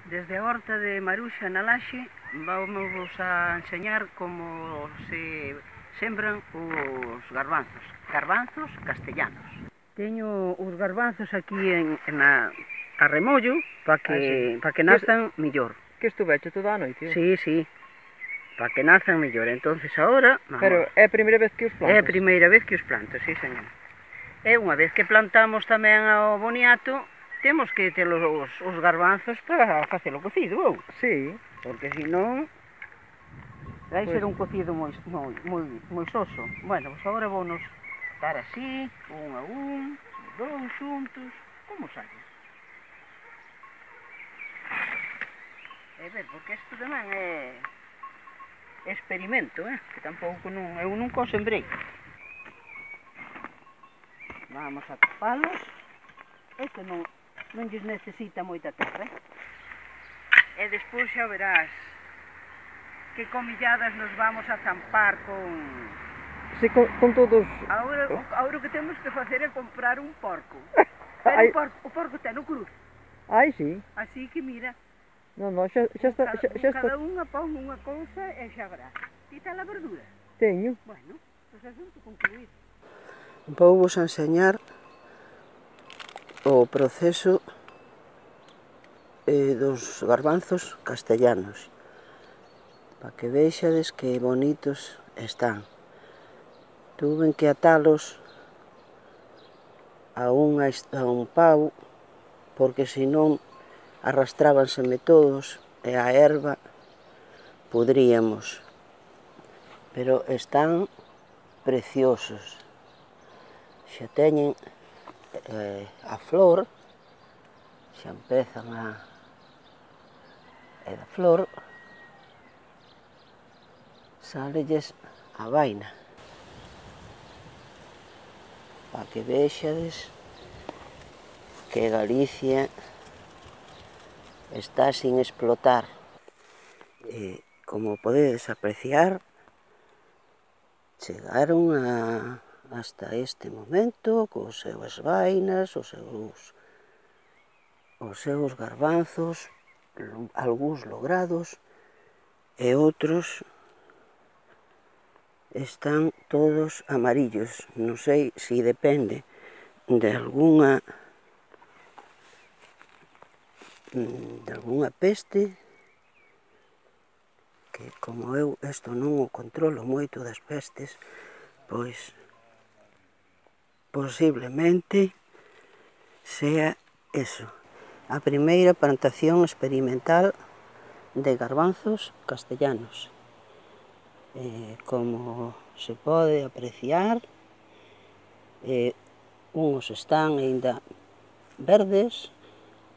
Desde a horta de Maruxa na Laxe vamos a enseñar como se sembran os garbanzos castellanos. Teño os garbanzos aquí a remollo para que nazan mellor. Que estuveche toda a noite? Sí, para que nazan mellor. Entonces agora... Pero é a primeira vez que os plantas? É a primeira vez que os planto, sí, señor. E unha vez que plantamos tamén ao boniato, temos que ter os garbanzos para facelo cocido, ou? Sí. Porque senón vai ser un cocido moi soso. Bueno, pois agora vounos dar así, un a un, dous xuntos, como sabe. E ver, porque isto tamén é experimento, que tampouco eu nunca o sembrei. Vamos a tapalos. Este non lles necesita moita terra, E despois xa verás que comilladas nos vamos a zampar con... Sí, con todos... Agora o que temos que facer é comprar un porco. Pero o porco ten o cruz. Ai, sí. Así que mira... Non, xa está... Cada unha pon unha cousa e xa verás. Ti ten a verdura? Teño. Bueno, pois asunto concluído. Vou vos enseñar o proceso dos garbanzos castellanos, para que vexades que bonitos están. Tuven que atalos a un pau, porque senón arrastrábanseme todos e a erva podríamos. Pero están preciosos. Xa teñen a flor, xa empezan e da flor salelles a vaina, para que vexades que Galicia está sin explotar. Como podedes apreciar, chegaron hasta este momento cos seus vainas, os seus garbanzos, algúns logrados e outros están todos amarillos. Non sei se depende de algunha peste, que como eu isto non o controlo moito das pestes, pois posiblemente sea eso. A primeira plantación experimental de garbanzos castellanos. Como se pode apreciar, uns están aínda verdes,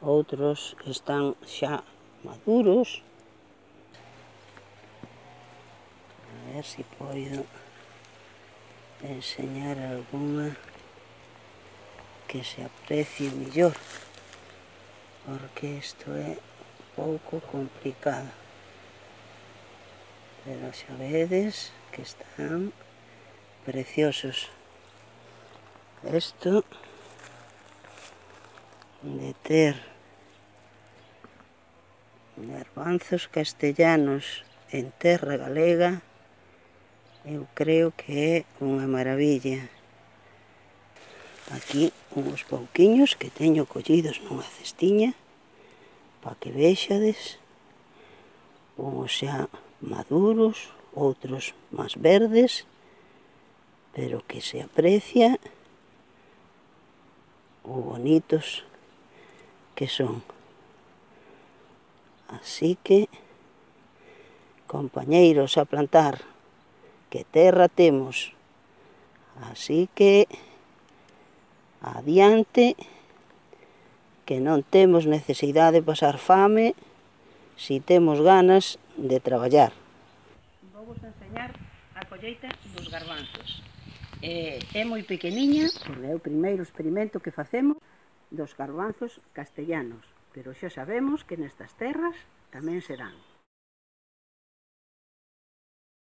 outros están xa maduros. A ver se podo enseñar algunha que se aprecie mellor, porque isto é un pouco complicado. Pero xa vedes que están preciosos. Isto de ter garbanzos castellanos en terra galega, eu creo que é unha maravilla. Aquí uns pouquiños que teño collidos nunha cestiña, para que vexades, uns xa maduros, outros máis verdes, pero que se aprecia o bonitos que son. Así que, compañeiros a plantar, que terra temos, así que adiante, que non temos necesidade de pasar fame si temos ganas de traballar. Vou vos enseñar a colleita dos garbanzos. É moi pequeniña, porque é o primeiro experimento que facemos dos garbanzos castellanos, pero xa sabemos que nestas terras tamén serán.